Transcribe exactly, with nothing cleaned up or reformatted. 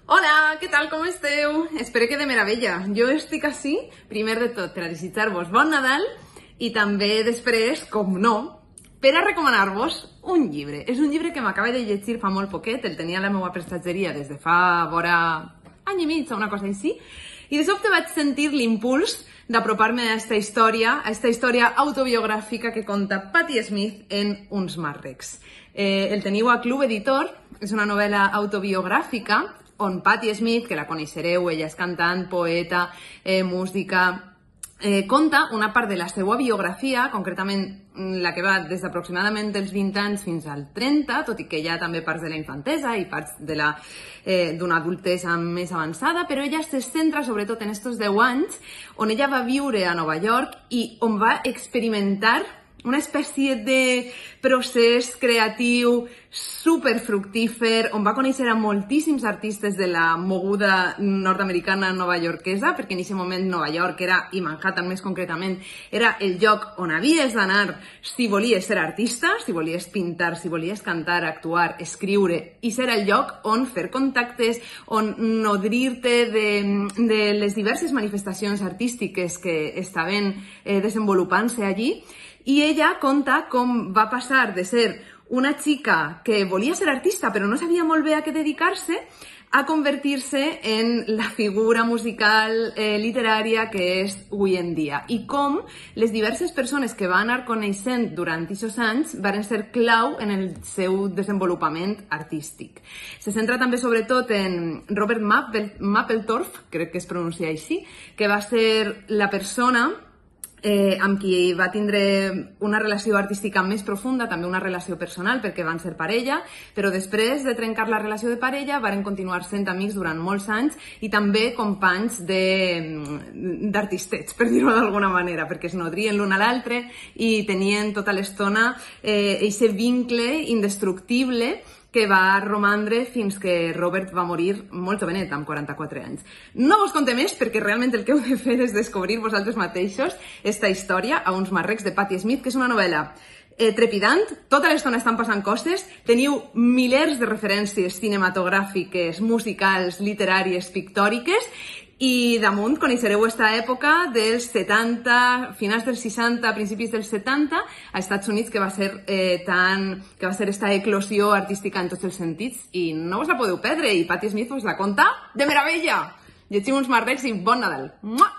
Hola, què tal, com esteu? Espero que de meravella. Jo estic així, primer de tot, per a desitjar-vos bon Nadal i també després, com no, per a recomanar-vos un llibre. És un llibre que m'acaba de llegir fa molt poquet, el tenia a la meva prestatgeria des de fa vora any i mig o una cosa així, i de sobte vaig sentir l'impuls d'apropar-me a aquesta història, a aquesta història autobiogràfica que conta Patti Smith en uns marrecs. Eh, el teniu a Club Editor, és una novel·la autobiogràfica on Patti Smith, que la coneixereu, ella és cantant, poeta, eh, música, eh, conta una part de la seva biografia, concretament la que va des d'aproximadament dels vint anys fins al trenta, tot i que hi ha també parts de la infantesa i parts d'una eh, adultesa més avançada, però ella se centra sobretot en aquests deu anys on ella va viure a Nova York i on va experimentar una espècie de procés creatiu superfructífer, on va conèixer a moltíssims artistes de la moguda nord-americana nova-iorquesa, perquè en aquest moment Nova York era, i Manhattan més concretament, era el lloc on havies d'anar si volies ser artista, si volies pintar, si volies cantar, actuar, escriure, i ser el lloc on fer contactes, on nodrir-te de, de les diverses manifestacions artístiques que estaven eh, desenvolupant-se allí. I ella conta com va passar de ser una xica que volia ser artista però no sabia molt bé a què dedicar-se a convertir-se en la figura musical eh, literària que és avui en dia. I com les diverses persones que va anar coneixent durant aquests anys van ser clau en el seu desenvolupament artístic. Se centra també sobretot en Robert Mapplethorpe, crec que es pronuncia així, que va ser la persona Eh, amb qui va tindre una relació artística més profunda, també una relació personal, perquè van ser parella, però després de trencar la relació de parella varen continuar sent amics durant molts anys i també companys d'artistets, per dir-ho d'alguna manera, perquè es nodrien l'un a l'altre i tenien tota l'estona eh, aquest vincle indestructible que va romandre fins que Robert va morir molt jovenet, amb quaranta-quatre anys. No vos conté més, perquè realment el que heu de fer és descobrir vosaltres mateixos esta història a uns marrecs de Patti Smith, que és una novel·la eh, trepidant, tota l'estona estan passant coses, teniu milers de referències cinematogràfiques, musicals, literàries, pictòriques, i damunt coneixereu aquesta època dels setanta, finals dels seixanta, principis dels setanta, a Estats Units, que va ser eh, tan, que va ser esta eclosió artística en tots els sentits, i no us la podeu perdre, i Patti Smith us la conta de meravella! Llegim uns marrecs i bon Nadal! Mua!